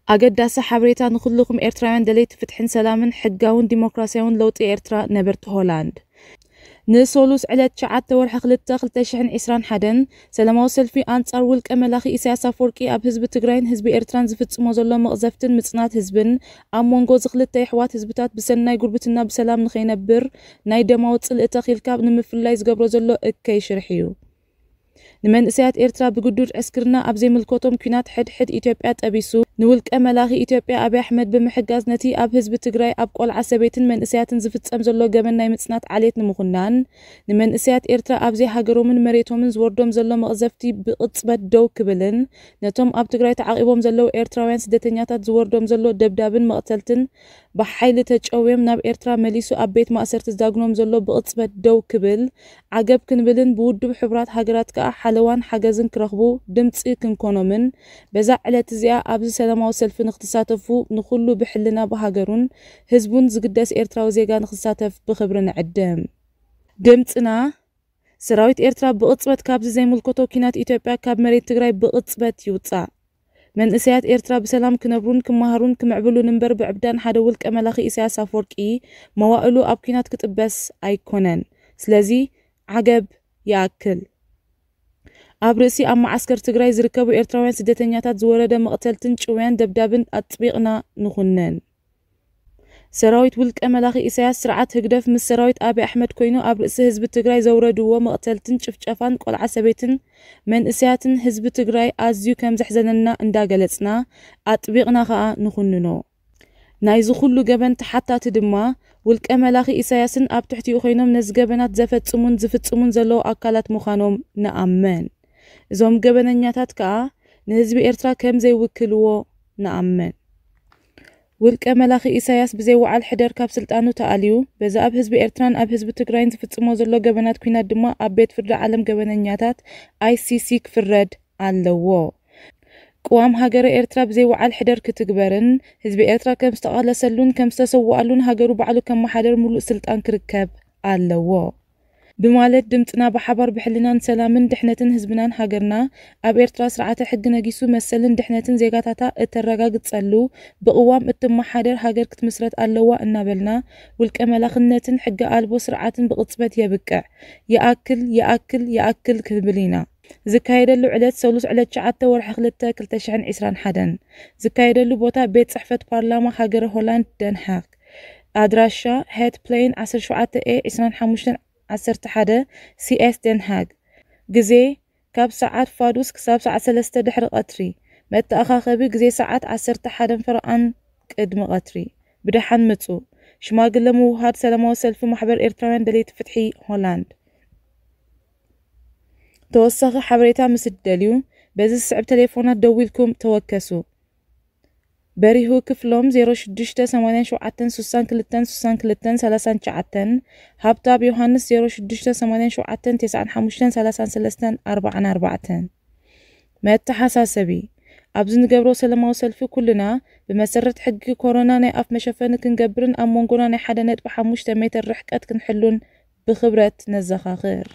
ኣገዳሲ ሓበሬታ ንኹልኹም ኤርትራውያን ደለይቲ ፍትሕን ሰላምን ሕጋውን ዲሞክራሲያውን ለውጢ ኤርትራ፣ ነበርቲ ሆላንድ። ንሶሉስ ዕለት ትሽዓተ ወርሒ ክልተ ክልተ ሽሕን ዕስራን ሓደን ሰላማዊ ሰልፊ ኣንጻር ውልቀ መላኺ ኢሳያስ ኣፈወርቂ ኣብ ህዝቢ ትግራይን ህዝቢ ኤርትራን ዝፍጽሞ ዘሎ መቕዘፍትን ምጽናት ህዝብን ኣብ መንጎ እዚ ክልተ የሕዋት ህዝብታት ብሰናይ ጉርብትና ብሰላም ንኸይነብር ናይ ደማዊ ጽልኢ ተኺልካ ንምፍላይ ዝገብሮ ዘሎ እከይ ሽርሒ እዩ። ንመንእሰያት ኤርትራ ብግዱድ ዕስክርና ኣብ ዘይምልከቶም ኲናት ሕድሕድ ኢትዮጵያ ጠቢሱ፣ ንውልቀ መላኺ ኢትዮጵያ ኣብይ ኣሕመድ ብምሕጋዝ ነቲ ኣብ ህዝቢ ትግራይ ኣብ ቆልዓ ሰበይትን መንእሰያትን ዝፍጸም ዘሎ ገበን ናይ ምጽናት ዓሌት ንምኹናን፣ ንመንእሰያት ኤርትራ ኣብ ዘይሃገሮምን መሬቶምን ዝወርዶም ዘሎ መቕዘፍቲ ብቕጽበት ደው ክብልን ነቶም ኣብ ትግራይ ተዓቒቦም ዘለዉ ኤርትራውያን ስደተኛታት ዝወርዶም ዘሎ ደብዳብን መቕተልትን ብሓይሊ ተጨውዮም ናብ ኤርትራ መሊሱ ኣብ ቤት ማእሰርቲ ዝዳግኖም ዘሎ ብቕጽበት ደው ክብል ዓገብ ክንብልን ብውድብ ሕቡራት ሃገራት ከኣ ሓለዋን ሓገዝን ክረኽቡ ድምጺ ክንኮኖምን በዛ ዕለት እዚኣ ኣብዚ ሰላማዊ ሰልፊ ንክትሳተፉ ንኹሉ ብሕልና ብሃገሩን ህዝቡን ዝግደስ ኤርትራዊ ዜጋ ንክሳተፍ ብኽብሪ ንዕድም። ድምጽና ሰራዊት ኤርትራ ብቕጽበት ካብዚ ዘይምልከቶ ኲናት ኢትዮጵያ ካብ መሬት ትግራይ ብቕጽበት ይውጻእ። መንእሰያት ኤርትራ ብሰላም ክነብሩን ክመሃሩን ክምዕብሉን እምበር ብዕብዳን ሓደ ውልቀ መላኺ ኢሳያስ ኣፈወርቂ መዋእሉ ኣብ ኲናት ክጥበስ ኣይኮነን። ስለዚ ዓገብ ይኣክል። ኣብ ርእሲ ኣብ መዓስከር ትግራይ ዝርከቡ ኤርትራውያን ስደተኛታት ዝወረደ መቕተልትን ጭውያን ደብዳብን ኣጥቢቕና ንኹንን። ሰራዊት ውልቀ መላኺ ኢሳያስ ስርዓት ህግደፍ ምስ ሰራዊት ኣብይ ኣሕመድ ኮይኑ ኣብ ርእሲ ህዝቢ ትግራይ ዘውረድዎ መቕተልትን ጭፍጨፋን ቆልዓ ሰበይትን መንእሰያትን ህዝቢ ትግራይ ኣዝዩ ከም ዘሕዘነና እንዳገለጽና ኣጥቢቕና ከኣ ንኹንኖ። ናይዚ ኩሉ ገበን ተሓታቲ ድማ ውልቀ መላኺ ኢሳያስን ኣብ ትሕቲኡ ኮይኖም ነዚ ገበናት ዘፈጽሙን ዝፍጽሙን ዘለዉ ኣካላት ምዃኖም ንኣምን። እዞም ገበነኛታት ከኣ ንህዝቢ ኤርትራ ከም ዘይውክልዎ ንኣምን። ውልቀ መላኺ ኢሳያስ ብዘይ ወዓል ሕደር ካብ ስልጣኑ ተኣልዩ፣ በዚ ኣብ ህዝቢ ኤርትራን ኣብ ህዝቢ ትግራይን ዝፍጽሞ ዘሎ ገበናት ኲናት ድማ ኣብ ቤት ፍርዲ ዓለም ገበነኛታት ኣይሲሲ ክፍረድ ኣለዎ። ቅዋም ሃገረ ኤርትራ ብዘይ ወዓል ሕደር ክትግበርን ህዝቢ ኤርትራ ከም ዝተቓለሰሉን ከም ዝተሰውኣሉን ሃገሩ ባዕሉ ከመሓደር ምሉእ ስልጣን ክርከብ ኣለዎ። ብማለት ድምጽና ብሓባር ብሕልናን ሰላምን ድሕነትን ህዝብናን ሃገርና ኣብ ኤርትራ ስርዓተ ሕጊ ነጊሱ መሰልን ድሕነትን ዜጋታታ እተረጋግጸሉ ብቅዋም እትመሓደር ሃገር ክትምስረት ኣለዋ እናበልና ውልቀ መላኽነትን ሕጊ ኣልቦ ስርዓትን ብቕጽበት የብቅዕ። ይኣክል፣ ይኣክል፣ ይኣክል ክንብል ኢና። ዝካየደሉ ዕለት ሰሉስ ዕለት ትሽዓተ ወርሒ ክልተ ክልተ ሽሕን ዕስራን ሓደን። ዝካየደሉ ቦታ ቤት ጽሕፈት ፓርላማ ሃገረ ሆላንድ ደንሃግ። ኣድራሻ ሄት ፕሌን ዓሰርተ ሸውዓተ ኤ ዕስራን ሓሙሽተን ዓሰርተ ሓደ ሲኤስ ደንሃግ። ግዜ ካብ ሰዓት ፋዱስ ክሳብ ሰዓት ሰለስተ ድሕሪ ቀትሪ። መተኣኻኸቢ ግዜ ሰዓት ዓሰርተ ሓደን ፈረቓን ቅድሚ ቀትሪ። ብደሓን ምጹ። ሽማግለ ምውሃድ ሰላማዊ ሰልፊ ማሕበር ኤርትራውያን ደለይቲ ፍትሒ ሆላንድ። ተወሳኺ ሓበሬታ ምስ እትደልዩ በዚ ዝስዕብ ቴሌፎናት ደዊልኩም ተወከሱ። በሪሁ ክፍሎም ዜሮ ሽዱሽተ ሰማንያን ሸውዓተን ስሳን ክልተን ስሳን ክልተን ሰላሳን ትሽዓተን፣ ሃብታብ ዮሃንስ ዜሮ ሽዱሽተ ሰማንያን ሸውዓተን ተስዓን ሓሙሽተን ሰላሳን ሰለስተን ኣርባዓን ኣርባዕተን። መተሓሳሰቢ፣ ኣብዚ ንገብሮ ሰላማዊ ሰልፊ ኩልና ብመሰረት ሕጊ ኮሮና ናይ ኣፍ መሸፈኒ ክንገብርን ኣብ መንጎና ናይ ሓደ ነጥቢ ሓሙሽተ ሜትር ርሕቀት ክንሕሉን ብኽብረት ነዘኻኽር።